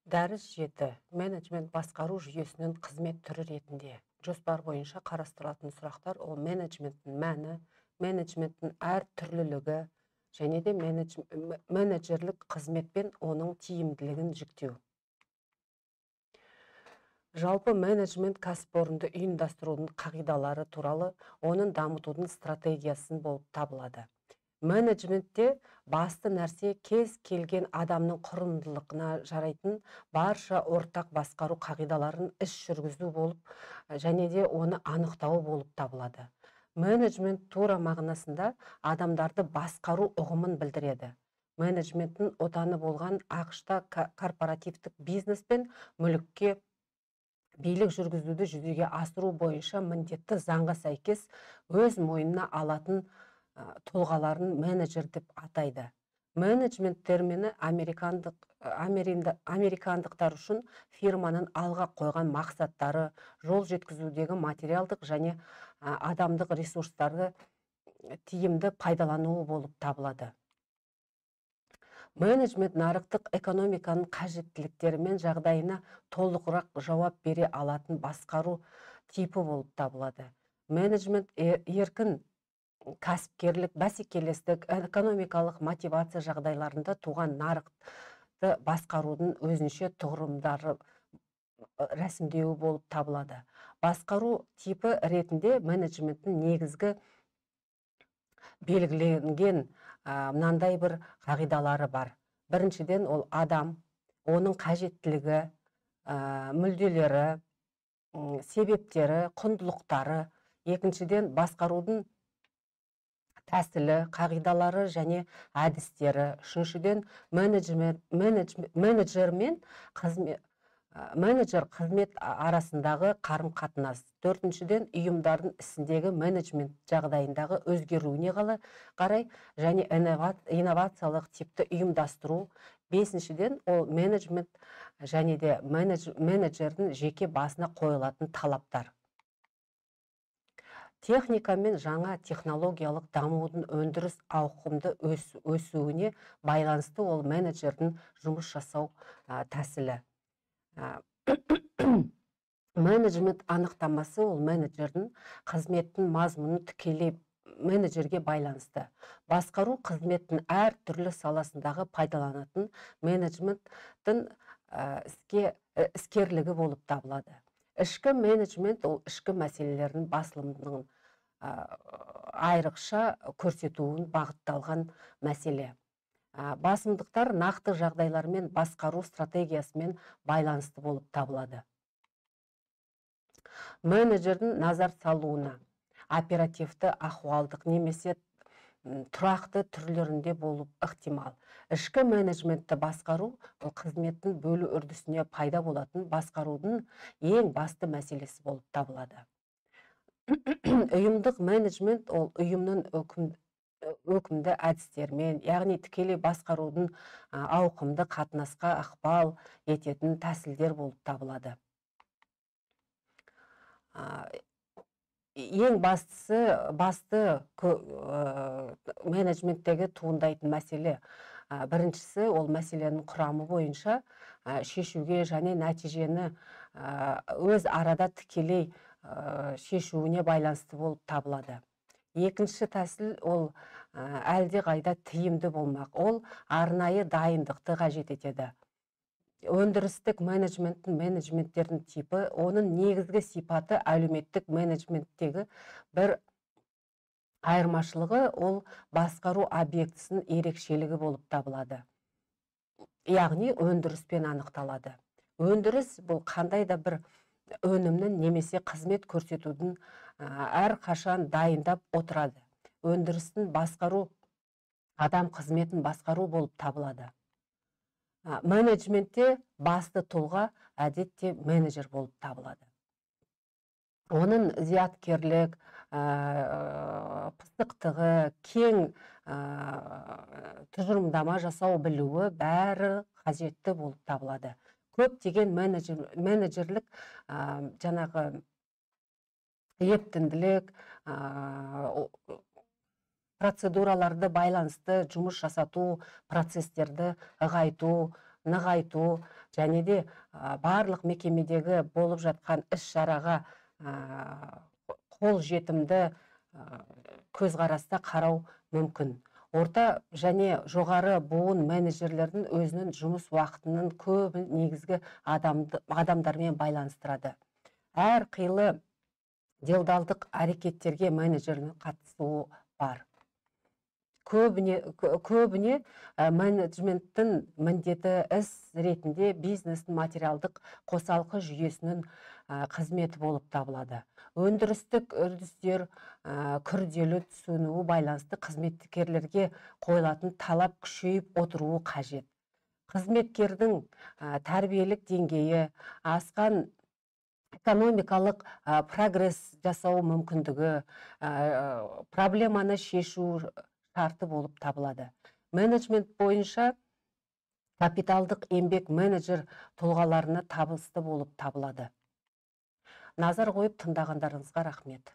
Дәріс 7. Менеджмент басқару жүйесінің қызмет түрі ретінде. Жоспар бойынша қарастырылатын сұрақтар ол менеджменттің мәні, менеджменттің әр түрлілігі және де менеджерлік қызметпен оның тиімділігін жіктеу. Жалпы менеджмент кәсіпорынды ұйымдастырудың қағидалары туралы оның дамытудың стратегиясын болып табылады. Менеджментте басты нәрсе кез келген адамның құрылымдылығына жарайтын барша ортақ басқару қағидаларын іс жүргізу болып және де оны анықтау болып табылады. Менеджмент тура мағынасында адамдарды басқару ұғымын білдіреді. Менеджменттің отаны болған ақш-та корпоративтік бизнес пен мүлікке билік жүргізуді жүзеге асыру бойынша міндетті заңға сәйкес өз мойнына алатын тұлғаларын менеджер деп атайды. Менеджмент термині американдықтар үшін фирманың алға қойған мақсаттары, жол жеткізудегі материалдық және адамдық ресурстарды тиімді пайдалануы болып табылады. Менеджмент нарықтық экономиканың қажеттіліктері мен жағдайына толығырақ жауап бере алатын басқару типі болып табылады. Менеджмент еркін кәсіпкерлік, бәсекелестік, экономикалық мотивация жағдайларында туған нарықты басқарудың өзінше тұғырымдары рәсімдеуі болып табылады. Басқару типі ретінде менеджменттің негізгі белгіленген мынандай бір қағидалары бар. Біріншіден ол адам, оның қажеттілігі, мүдделері, себептері, құндылықтары. Екіншіден басқарудың тәсілі, қағидалары және әдістері. Үшіншіден менеджер қызмет арасындағы қарым-қатынас. Төртіншіден ұйымдардың ісіндегі менеджмент жағдайындағы өзгеруіне қарай және инновациялық типті ұйымдастыру. Бесіншіден ол менеджмент және де менеджердің жеке басына қойылатын талаптар. Техника мен жаңа технологиялық дамудың өндіріс ауқымды өсуіне байланысты ол менеджердің жұмыс жасау тәсілі. Менеджмент анықтамасы ол менеджердің қызметтің мазмұны тікелей менеджерге байланысты. Басқару қызметтің әр түрлі саласындағы пайдаланатын менеджменттің іскерлігі болып табылады. Ішкі менеджмент ол ішкі мәселелердің басылымының айрықша көрсетуін бағытталған мәселе. Басымдықтар нақты жағдайлармен басқару стратегиясымен байланысты болып табылады. Менеджердің назар салуына оперативті, ахуалдық немесе тұрақты түрлерінде болып ықтимал. Ішкі менеджментті басқару ол қызметтің бөлу үрдісіне пайда болатын басқарудың ең басты мәселесі болып табылады. Ұйымдық менеджмент ол ұйымның өкімді әдістермен, яғни тікелей басқарудың ауқымды қатынасқа ықпал ететін тәсілдер болып табылады. Ең басты менеджменттегі туындайтын мәселе. Біріншісі ол мәселенің құрамы бойынша шешуге және нәтижені өз арада тікелей шешуіне байланысты болып табылады. Екінші тәсіл ол әлде қайда тиімді болмақ. Ол арнайы дайындықты қажет етеді. Өндірістік менеджменттердің типі, оның негізгі сипаты әлеуметтік менеджменттегі бір айырмашылығы ол басқару объектісінің ерекшелігі болып табылады. Яғни өндіріспен анықталады. Өндіріс бұл қандай да бір өнімнің немесе қызмет көрсетудің әр қашан дайындап отырады. Өндірістің басқару адам қызметін басқару болып табылады. Менеджментте басты тұлға әдетте менеджер болып табылады. Оның зияткерлік, пысықтығы, кең тұжырымдама жасау білуі бәрі қажетті болып табылады. Көптеген менеджерлік жаңағы ептінділік, процедураларды байланысты жұмыс жасату, процестерді ығайту, нығайту және де барлық мекемедегі болып жатқан іс-шараға қол жетімді көзқараста қарау мүмкін. Орта және жоғары буын менеджерлердің өзінің жұмыс уақытының көбін негізгі адамдармен байланыстырады. Әр қилы делдалдық әрекеттерге менеджердің қатысуы бар. Көбіне менеджменттің міндеті іс ретінде бизнестің материалдық қосалқы жүйесінің қызметі болып табылады. Өндірістік үрдістер күрделі түсінуі байланысты қызметкерлерге қойылатын талап күшейіп отыруы қажет. Қызметкердің тәрбиелік деңгейі, асқан экономикалық прогресс жасау мүмкіндігі, проблеманы шешу шарты болып табылады. Менеджмент бойынша капиталдық еңбек менеджер тұлғаларына табысты болып табылады. Назар қойып тыңдағандарыңызға рахмет.